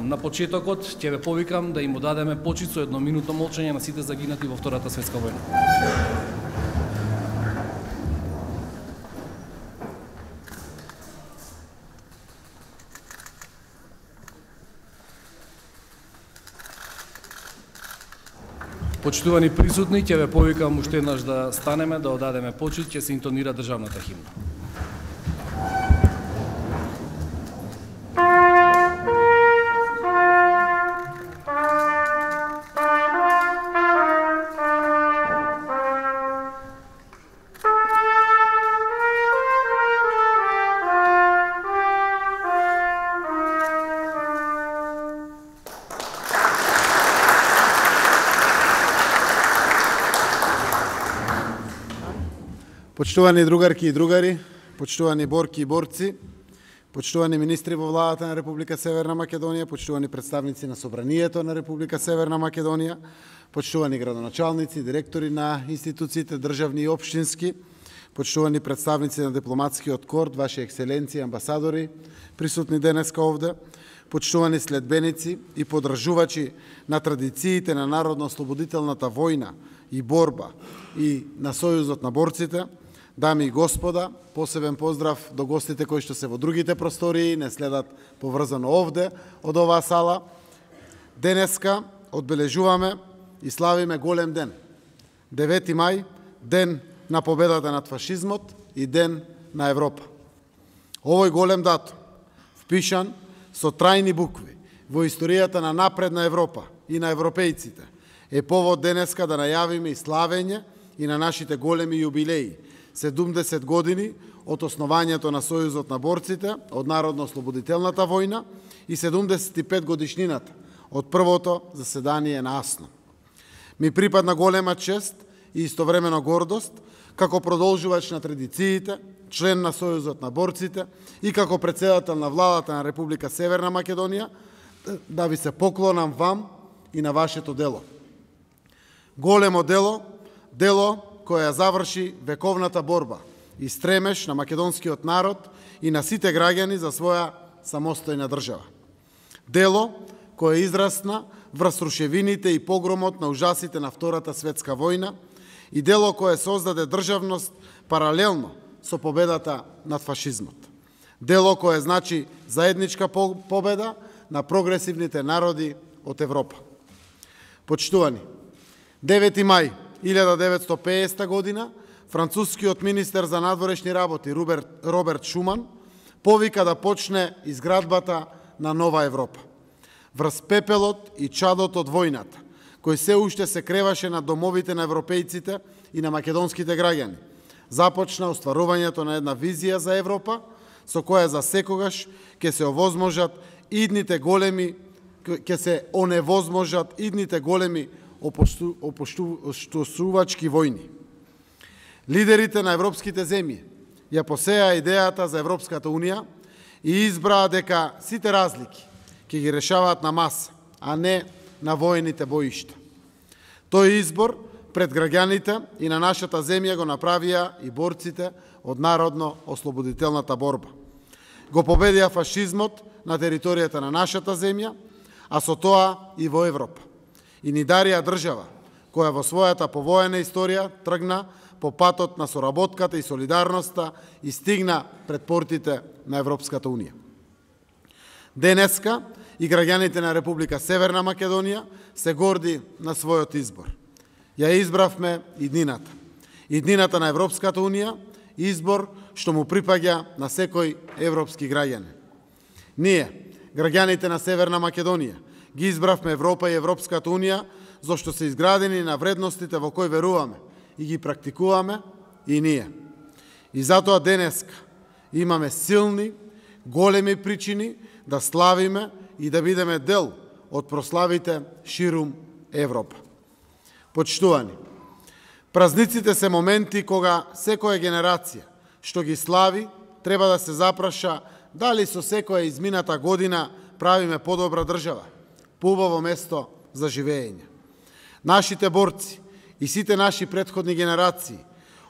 На почетокот ќе ве повикам да им одадеме почит со едноминутно молчање на сите загинати во Втората светска војна. Почитувани присутни, ќе ве повикам уште еднаш да станеме, да одадеме почит, ќе се интонира државната химна. Почитувани другарки и другари, почитувани борки и борци, почитувани министри во владата на Република Северна Македонија, почитувани представници на Собранието на Република Северна Македонија, почитувани градоначалници, директори на институциите државни и општински, почитувани представници на дипломатскиот корд, ваши екселенции, амбасадори, присутни денеска овде, почитувани следбеници и подржувачи на традициите на народно-ослободителната војна и борба и на Сојузот на борците, дами и господа, посебен поздрав до гостите кои што се во другите простории, не следат поврзано овде од оваа сала. Денеска одбележуваме и славиме голем ден. 9 мај, ден на победата над фашизмот и ден на Европа. Овој голем датум, впишан со трајни букви во историјата на напредна Европа и на европејците, е повод денеска да најавиме и славење и на нашите големи јубилеи, 70 години од основањето на Сојузот на борците, од Народно-ослободителната војна и 75 годишнината од првото заседание на АСНО. Ми припадна голема чест и истовремено гордост, како продолжувач на традициите, член на Сојузот на борците и како претседател на владата на Република Северна Македонија, да ви се поклонам вам и на вашето дело. Големо дело, дело кое ја заврши вековната борба и стремеш на македонскиот народ и на сите граѓани за своја самостојна држава. Дело кое израсна врз рушевините и погромот на ужасите на Втората светска војна и дело кое создаде државност паралелно со победата над фашизмот. Дело кое значи заедничка победа на прогресивните народи од Европа. Почитувани, 9 мај 1950 година, францускиот министер за надворешни работи Роберт Шуман повика да почне изградбата на нова Европа. Врз пепелот и чадот од војната, кој се уште се креваше на домовите на европејците и на македонските граѓани, започна остварувањето на една визија за Европа, со која за секогаш ќе се оневозможат идните големи опуштувачки војни. Лидерите на европските земји ја посеа идејата за Европската Унија и избраа дека сите разлики ќе ги решаваат на маса, а не на воените боишта. Тој избор пред граѓаните и на нашата земја го направија и борците од Народно-ослободителната борба. Го победија фашизмот на територијата на нашата земја, а со тоа и во Европа. И ни дарија држава, која во својата повоена историја тргна по патот на соработката и солидарноста и стигна пред портите на Европската Унија. Денеска и граѓаните на Република Северна Македонија се горди на својот избор. Ја избравме иднината. Иднината на Европската Унија, избор што му припаѓа на секој европски граѓанин. Ние, граѓаните на Северна Македонија, ги избравме Европа и Европската Унија, зашто се изградени на вредностите во кои веруваме и ги практикуваме и ние. И затоа денеска имаме силни, големи причини да славиме и да бидеме дел од прославите ширум Европа. Почитувани, празниците се моменти кога секоја генерација што ги слави треба да се запраша дали со секоја измината година правиме подобра држава, поубаво место за живење. Нашите борци и сите наши претходни генерации,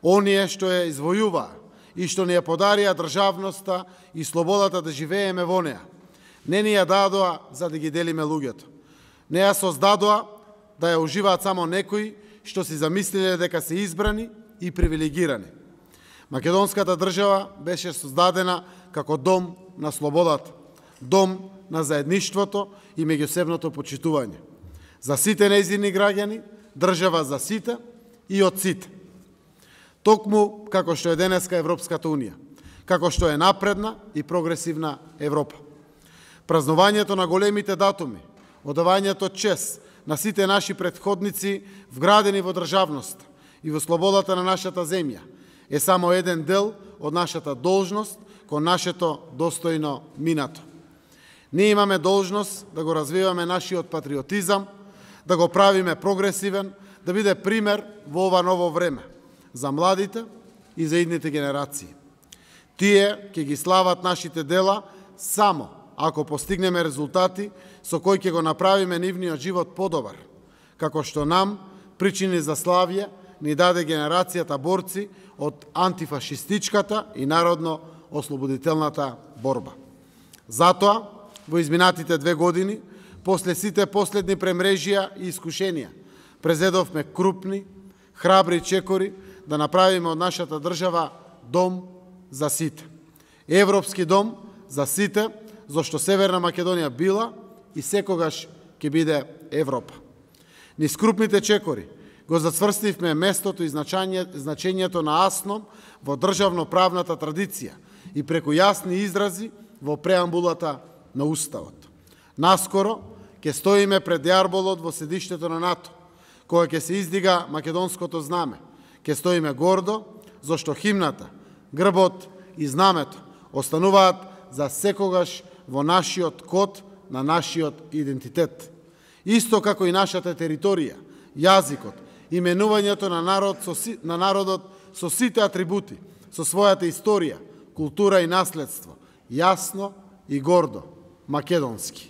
оние што ја извојуваа и што ни ја подарија државноста и слободата да живееме во неа, Не ни ја дадоа за да ги делиме луѓето. Не ја создадоа да ја уживаат само некои што си замислиле дека се избрани и привилегирани. Македонската држава беше создадена како дом на слободата, дом на заедништвото и меѓусебното почитување. За сите нејзини граѓани, држава за сите и од сите. Токму како што е денеска Европската Унија, како што е напредна и прогресивна Европа. Празнувањето на големите датуми, одавањето чест на сите наши претходници вградени во државност и во слободата на нашата земја е само еден дел од нашата должност кон нашето достојно минато. Ние имаме должност да го развиваме нашиот патриотизам, да го правиме прогресивен, да биде пример во ова ново време за младите и за идните генерации. Тие ќе ги слават нашите дела само ако постигнеме резултати со кои ќе го направиме нивниот живот подобар, како што нам причини за славје ни даде генерацијата борци од антифашистичката и народно-ослободителната борба. Затоа, во изминатите 2 години, после сите последни премрежија и искушенија, презедовме крупни, храбри чекори да направиме од нашата држава дом за сите. Европски дом за сите, зашто Северна Македонија била и секогаш ќе биде Европа. Низ крупните чекори го зацврстивме местото и значењето на АСНОМ во државно-правната традиција и преку јасни изрази во преамбулата на Уставот. Наскоро ќе стоиме пред јарболот во седиштето на НАТО, кога ќе се издига македонското знаме. Ќе стоиме гордо, зашто химната, грбот и знамето остануваат за секогаш во нашиот код на нашиот идентитет. Исто како и нашата територија, јазикот, именувањето на народот со сите атрибути, со својата историја, култура и наследство, јасно и гордо, македонски.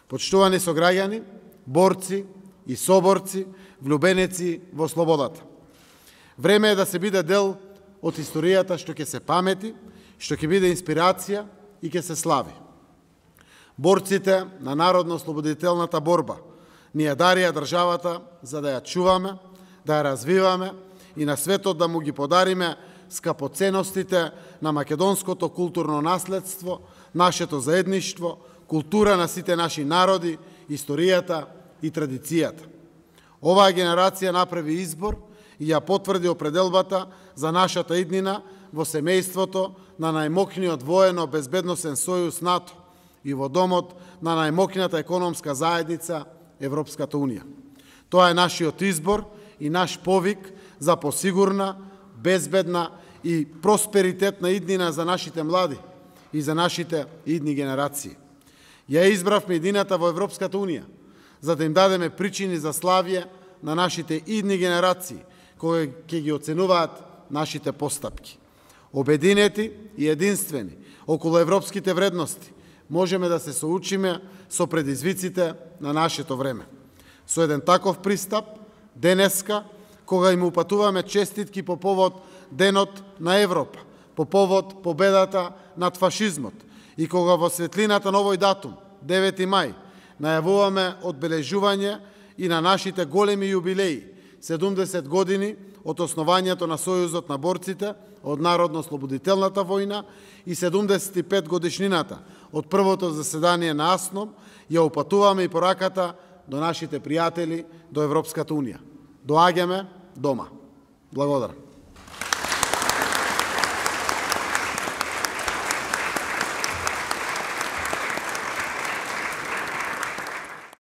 Почитувани сограѓани, борци и соборци, влюбеници во слободата. Време е да се биде дел од историјата што ќе се памети, што ќе биде инспирација и ќе се слави. Борците на народно-ослободителната борба ни ја дарија државата за да ја чуваме, да ја развиваме и на светот да му ги подариме скапоценностите на македонското културно наследство, нашето заедништво, култура на сите наши народи, историјата и традицијата. Оваа генерација направи избор и ја потврди определбата за нашата иднина во семејството на најмокниот воено-безбедносен сојуз НАТО и во домот на најмокната економска заедница Европската Унија. Тоа е нашиот избор и наш повик за посигурна, безбедна и просперитетна иднина за нашите млади и за нашите идни генерации. Ја избравме иднината во Европската Унија, за да им дадеме причини за славје на нашите идни генерации, кои ќе ги оценуваат нашите постапки. Обединети и единствени околу европските вредности, можеме да се соучиме со предизвиците на нашето време. Со еден таков пристап, денеска, кога им упатуваме честитки по повод Денот на Европа, по повод победата над фашизмот и кога во светлината на овој датум, 9 мај, најавуваме одбележување и на нашите големи јубилеи, 70 години од основањето на Сојузот на борците од Народно-ослободителната војна и 75 годишнината од првото заседание на АСНОМ, ја упатуваме и пораката до нашите пријатели до Европската Унија. Доаѓаме дома. Благодарам.